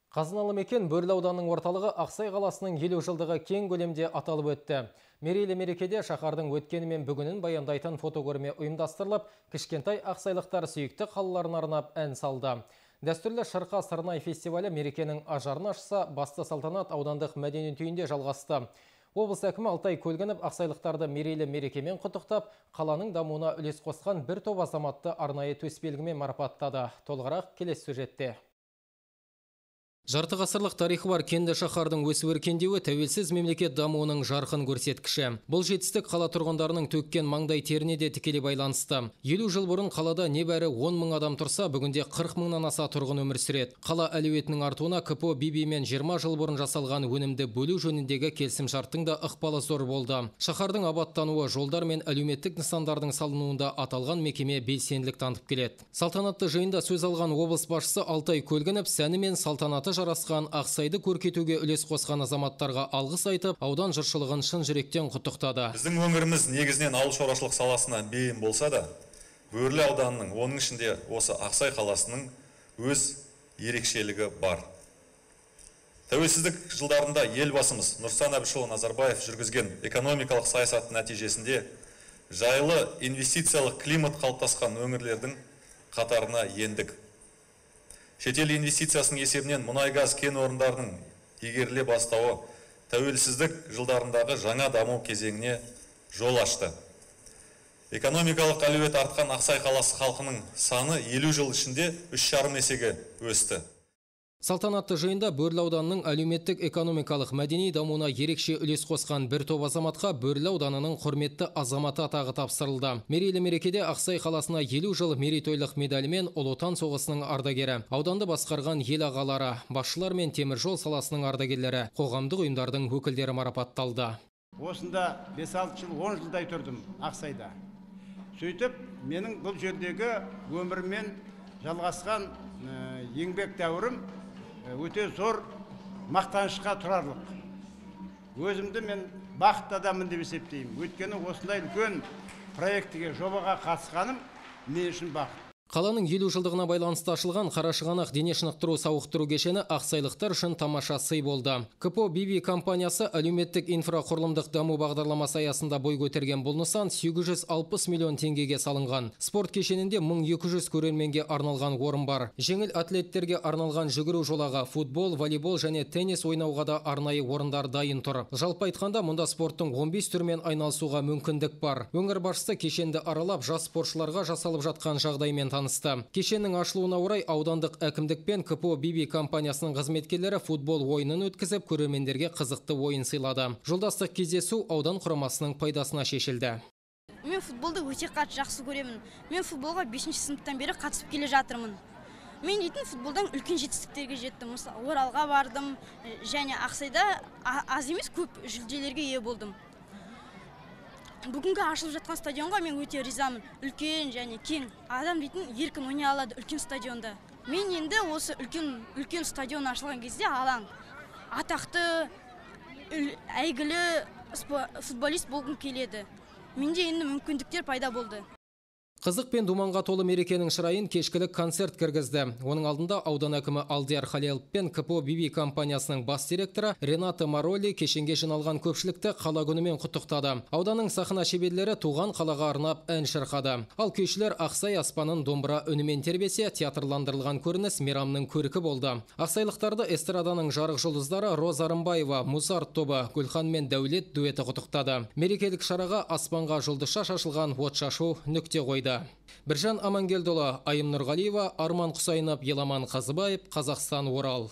Қазыналы мекен Бөрлі ауданының орталығы Ақсай қаласының 50 жылдығы кең көлемде аталып өтті. Мерейлі мерекеде шаһардың өткені мен бүгінін баяндайтын фотокөрме ұйымдастырылып, кішкентай ақсайлықтар сүйікті қалаларын арнап ән салды. Дәстүрлі Шырқа Сырнай фестивалі мерекенің ажарын ашса, басты салтанат аудандық мәдениет үйінде жалғасты. Облыс әкімі Алтай Көлгінов ақсайлықтарды мерейлі мерекемен құттықтап, қаланың дамуына үлес қосқан бір топ азаматты арнайы төсбелгімен марапаттады. Толығырақ келесі сюжетте. Жарты ғасырлық тарихы бар кенді шаһардың өсіп-өркендеуі тәуелсіз мемлекет дамуының жарқын көрсеткіші. Бұл жетістік қала тұрғындарының төккен маңдай теріне де тікелей байланысты. 50 жыл бұрын қалада небәрі 10 мың адам тұрса, бүгінде 40 мыңнан аса тұрғын өмір сүреді. Қала әлеуетінің артуына КПО Бибимен 20 жыл бұрын жасалған өнімді бөлу жөніндегі келісімшарттың да ықпалы зор болды. Шаһардың абаттануы, жолдар мен әлеуметтік нысандардың салынуында аталған мекеме белсенділік танытып келеді. Салтанатты жиында сөз алған облыс басшысы Алтай Көлгінов сәні мен салтанаты жарасқан Ақсайды көркейтуге үлес қосқан азаматтарға алғыс айтып, аудан жұртшылығын шын жүректен құттықтады. Біздің өңіріміз негізінен ауыл шаруашылық саласына бейім болса да, Бөрлі ауданының, оның ішінде осы Ақсай қаласының өз ерекшелігі бар. Тәуелсіздік жылдарында елбасымыз Нұрсұлтан Әбішұлы Назарбаев жүргізген экономикалық саясат нәтижесінде жайлы инвестициялық климат қалыптасқан өңірлердің қатарына ендік. Шетел инвестициясының есебінен мұнай-газ кен орындарының игеріле бастауы тәуелсіздік жылдарындағы жаңа даму кезеңіне жол ашты. Экономикалық әлеует артқан Ақсай қаласы халқының саны 50 жыл ішінде 3,5 есеге өсті. Салтанатты жиында Бөрлі ауданының әлеуметтік экономикалық мәдени дамуына ерекше үлес қосқан бір топ азаматқа Бөрлі ауданының құрметті азаматы атағы тапсырылды. Мерейлі мерекеде Ақсай қаласына 50 жыл мерейтойлық медалімен Ұлы Отан соғысының ардагері, ауданды басқарған ел ағалары, басшылар мен теміржол саласының ардагерлері, қоғамдық ұйымдардың өкілдері марапатталды. Осында 5-6 жыл, 10 жылдай тұрдым Ақсайда. Сөйтіп, менің бұл жердегі өмірмен жалғасқан еңбек дәуірім өте зор мақтанышқа тұрарлық. Өзімді мен бақытты адаммын деп есептеймін. Өйткені осындай үлкен проектіге, жобаға қатысқаным мен үшін бақыт. Қаланың 50 жылдығына байланысты ашылған Қарашығанақ дене шынықтыру сауықтыру кешені ақсайлықтар үшін тамаша сый болды. КПО Биби компаниясы әлеуметтік инфрақұрылымдық даму бағдарламасы аясында бой көтерген бұл нысан 860 миллион теңгеге салынған. Спорт кешенінде 1200 көрерменге арналған орын бар. Жеңіл атлеттерге арналған жүгіру жолағы, футбол, волейбол және теннис ойнауға да арнайы орындар дайын тұр. Жалпы айтқанда, мұнда спорттың 15 түрмен айналысуға мүмкіндік бар. Өңір басшысы кешенді аралап, жас спортшыларға жасалып жатқан жағдаймен танысты. Кешеннің ашылуына орай аудандық әкімдік пен КПО Биби компаниясының қызметкерлері футбол ойынын өткізіп, көрермендерге қызықты ойын сыйлады. Жолдастық кездесу аудан құрамасының пайдасына шешілді. Мен футболды өте қатты жақсы көремін. Мен футболға 5-ші сыныптан бері қатысып келе жатырмын. Мен дейтін футболдан үлкен жетістіктерге жеттім. Оралға бардым және Ақсайда аз емес көп жүлделерге ие болдым. Бүгінгі ашылып жатқан стадионға мен өте ризамын. Үлкен және кең. Адам дейтін еркін ойнай алады үлкен стадионда. Мен енді осы үлкен стадион ашылған кезде алаң атақты әйгілі футболист болғым келеді. Менде енді мүмкіндіктер пайда болды. Қызық пен думанға толы мерекенің шырайын кешкілік концерт кіргізді. Оның алдында аудан әкімі Алдияр Халилов пен КПО Биби компаниясының бас директоры Рената Мароли кешенге жиналған көпшілікті қала күнімен құттықтады. Ауданның сахна шеберлері туған қалаға арнап ән шырқады. Ал күйшілер Ақсай аспанын домбыра үнімен тербесе, театрландырылған көрініс мейрамның көркі болды. Ақсайлықтарды эстраданың жарық жұлдыздары Роза Рымбаева, Музарт тобы, Гүлхан мен Дәулет дуэті құттықтады. Мерекелік шараға аспанға жұлдызша шашылған отшашу нүкте қойды. Біржан Амангелдолы, Айым Нұрғалиева, Арман Құсайынов, Еламан Қазыбаев, Қазақстан, Орал.